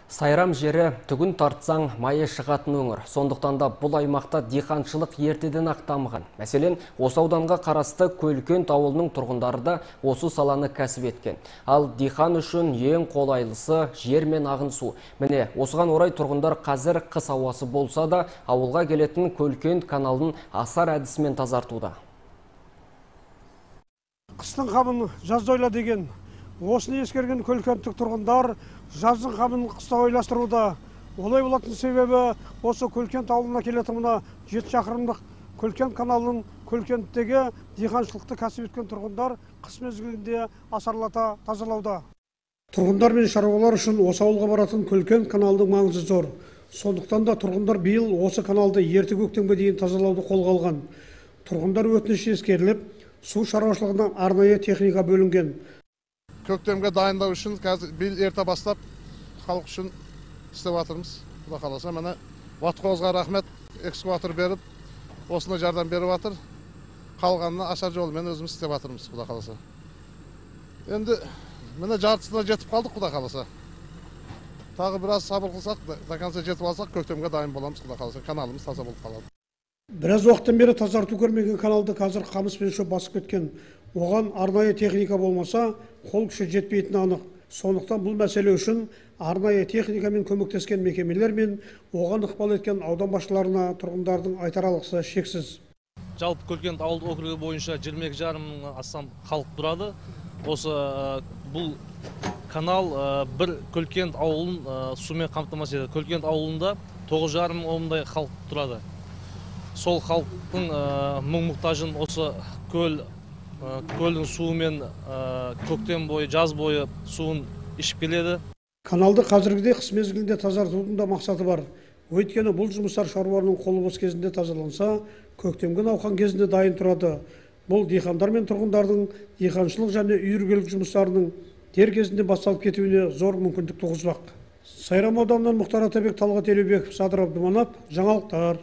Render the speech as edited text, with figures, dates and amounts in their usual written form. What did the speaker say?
Сайрам жері түгін тартсаң майы шығатын өңір. Сондықтан да бұл аймақта диқаншылық ертеден ақ дамыған. Мәселен, осы ауданға қарасты Көлкент ауылының тұрғындары да осы саланы кәсіп еткен. Ал диқан үшін ең қолайлысы жер мен ағын су. Міне, осыған орай тұрғындар қазір қыс ауасы болса да, ауылға келетін Көлкент каналын асар әдісімен тазартуда. Қыстың қамын жазда ойла деген. Осыны ескерген Көлкенттік тұрғындар жаздың қамын қыста ойластыруда. Олай болатын себебі осы Көлкент ауылына келетін мына 7 шақырымдық Көлкент каналының Көлкенттегі диқаншылықты кәсіп еткен тұрғындар қыс мезгілінде асарлата тазалауда. Тұрғындар мен шаруалар үшін осы ауылға баратын Көлкент каналының маңызы зор. Сондықтан да тұрғындар биыл осы каналды ерте көктемге дейін тазалауды қолға алған. Тұрғындар өтініші ескеріліп, су шаруашылығына арнайы техника бөлінген. Көктемге дайындау үшін қазір биыл ерте бастап халық үшін істеп жатырмыз. Құда қаласа, міне Ватқозға рахмет, экскаватор беріп, осына жардам беріп жатыр. Қалғанына ашар жолымен өзіміз істеп жатырмыз, құда қаласа. Енді міне жартысына жетіп қалдық, құда қаласа. Тағы біраз сабыр қылсақ, до конца жетіп алсақ, көктемге дайын боламыз, құда қаласа. Каналымыз таза болып қалады. Біраз уақыттан бері тазарту көрмеген каналды қазір қамыс пен шөп басып кеткен. Оған арнайы техника болмаса, қол күші жетпейтіні анық. Сондықтан бұл мәселе үшін арнайы техникамен көмектескен мекемелер мен оған ықпал еткен аудан басшыларына тұрғындардың айтар алғысы шексіз. Жалпы Көлкент ауылдық округі бойынша 22,5 мыңнан астам халық тұрады. Осы бұл канал бір Көлкент ауылын сумен қамтамасыз етеді. Көлкент ауылында 9,5 мыңдай халық тұрады. Сол халықтың мұң-мұқтажын осы көлдің суымен көктем бойы, жаз бойы суын ішіп келеді. Каналды қазіргіде қыс мезгілінде тазартудың да мақсаты бар. Өйткені бұл жұмыстар шаруалардың қолы бос кезінде тазаланса, көктемгі науқан кезінде дайын тұрады. Бұл диқандар мен тұрғындардың диқаншылық және үй іргелік жұмыстарының дер кезінде басталып кетуіне зор мүмкіндік туғызбақ. Сайрам ауданынан Мұхтар Атабек, Талғат Елеубеков, Садыр Абдыманап, жаңалықтар.